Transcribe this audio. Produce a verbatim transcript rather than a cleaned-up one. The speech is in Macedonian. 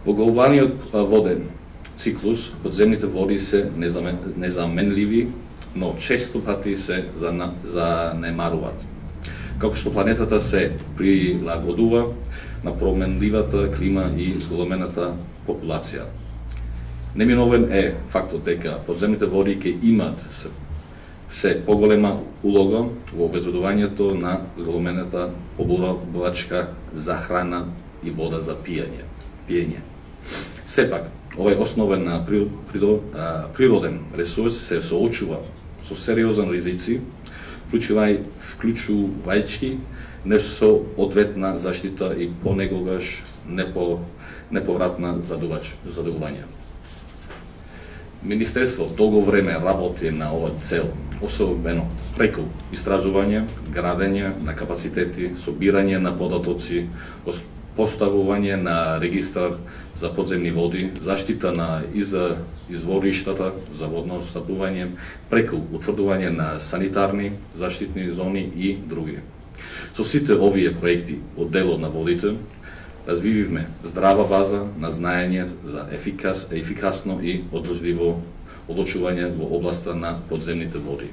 Во глобалниот воден циклус, подземните води се незаменливи, но често пати се занемаруваат. Како што планетата се прилагодува на променливата клима и зголемената популација. Неминовен е фактот дека подземните води ќе имаат се, се поголема улога во обезбедувањето на зголемената поборувачка за храна и вода за пиење. пиење. Сепак, овој основен природен ресурс се соочува со сериозен ризици, вклучувајќи несоодветна заштита и понекогаш непо, неповратна задовување. Министерство долго време работи на оваа цел, особено преку истражување, градење на капацитети, собирање на податоци, поставување на регистар за подземни води, заштита на извориштата за водно снабдување, преку утврдување на санитарни заштитни зони и други. Со сите овие проекти од делот на водите, развививме здрава база на знаење за ефикас, ефикасно и одржливо одлучување во областа на подземните води.